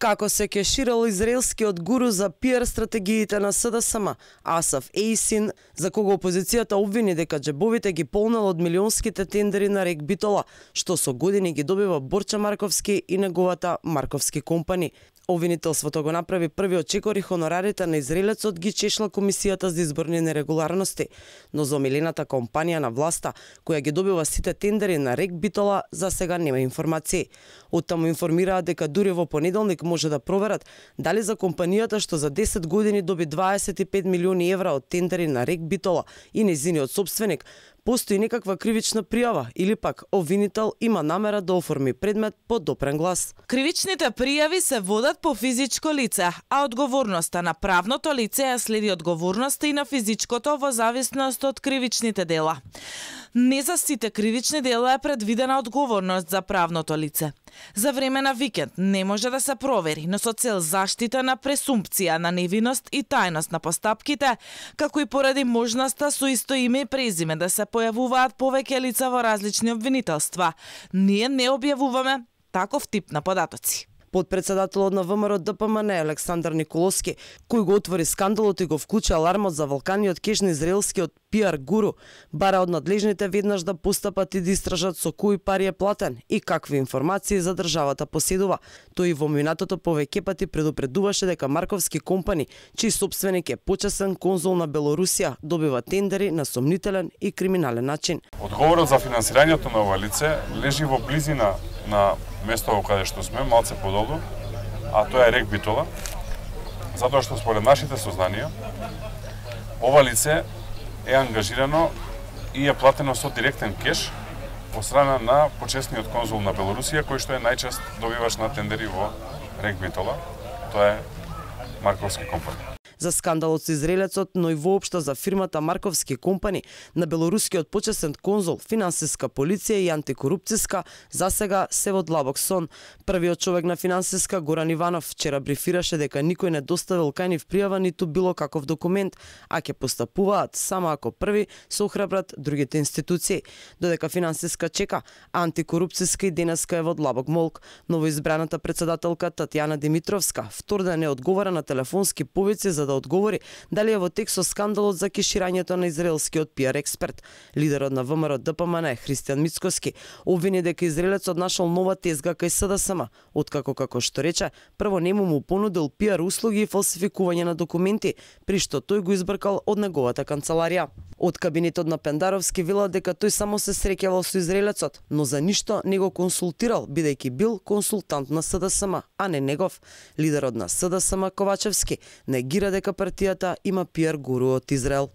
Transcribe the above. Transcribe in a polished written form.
Како се кеширал израелскиот гуру за пиар стратегиите на СДСМ, Асаф Ейсин, за кого опозицијата обвини дека џебовите ги полнел од милионските тендери на Рек Битола, што со години ги добива Борча Марковски и неговата Марковски компани. Обвинителството го направи првиот чекор и хонорарите на израелецот ги чешла Комисијата за изборни нерегуларности, но за омилената компанија на власта, која ги добива сите тендери на Рек Битола, за сега нема информации. Оттаму информираат дека дури во понеделник може да проверат дали за компанијата што за 10 години доби 25 милиони евра од тендери на Рек Битола и нејзиниот сопственик, постои некаква кривична пријава или пак обвинител има намера да оформи предмет по допрен глас. Кривичните пријави се водат по физичко лице, а одговорноста на правното лице ја следи одговорноста и на физичкото во зависност од кривичните дела. Не за сите кривични дела е предвидена одговорност за правното лице. За време на викенд не може да се провери, но со цел заштита на пресумпција на невиност и тајност на постапките, како и поради можноста со исто име и презиме да се појавуваат повеќе лица во различни обвинителства, ние не објавуваме таков тип на податоци. Подпредседателот на ВМРО ДПМН Александар Николовски, кој го отвори скандалот и го вклучи алармот за вулканиот кеш на израелскиот пиар гуру, бара од надлежните веднаш да постапат и да истражат со кои пари е платен и какви информации за државата поседува. Тој и во минатото повеќе пати предупредуваше дека Марковски компани, чиј собственик е почесен конзул на Белорусија, добива тендери на сомнителен и криминален начин. Одговорот за финансирањето на ова лице лежи во близина на местото каде што сме, малце подолу, а тоа е Рек Битола, затоа што според нашите сознанија, ова лице е ангажирано и е платено со директен кеш од страна на почесниот конзул на Белорусија, кој што е најчест добивач на тендери во Рек Битола, тоа е Марковски компани. За скандалот со израелецот, но и воопшто за фирмата Марковски компани, на белорускиот почесен конзул, финансиска полиција и антикорупцијска, засега се во длабок сон. Првиот човек на финансиска, Горан Иванов, вчера брифираше дека никој не доставил кај нив пријава ниту било каков документ, а ќе постапуваат само ако први се охрабрат другите институции. Додека финансиска чека, антикорупцијска и денеска е во длабок молк. Новоизбраната председателка Татјана Димитровска вторден не одговара на телефонски повици за да одговори дали е во тек со скандалот за кеширањето на израелскиот пиар експерт. Лидерот на ВМРО ДПМН Христијан Мицкоски обвини дека израелецот нашол нова тезга кај СДСМ, откако, како што рече, прво нему му понудил пиар услуги и фалсификување на документи, при што тој го избркал од неговата канцеларија. Од кабинетот на Пендаровски вела дека тој само се среќавал со израелецот, но за ништо не го консултирал, бидејќи бил консултант на СДСМ, а не негов. Лидерот на СДСМ Ковачевски негира дека партијата има пиар гуру од Израел.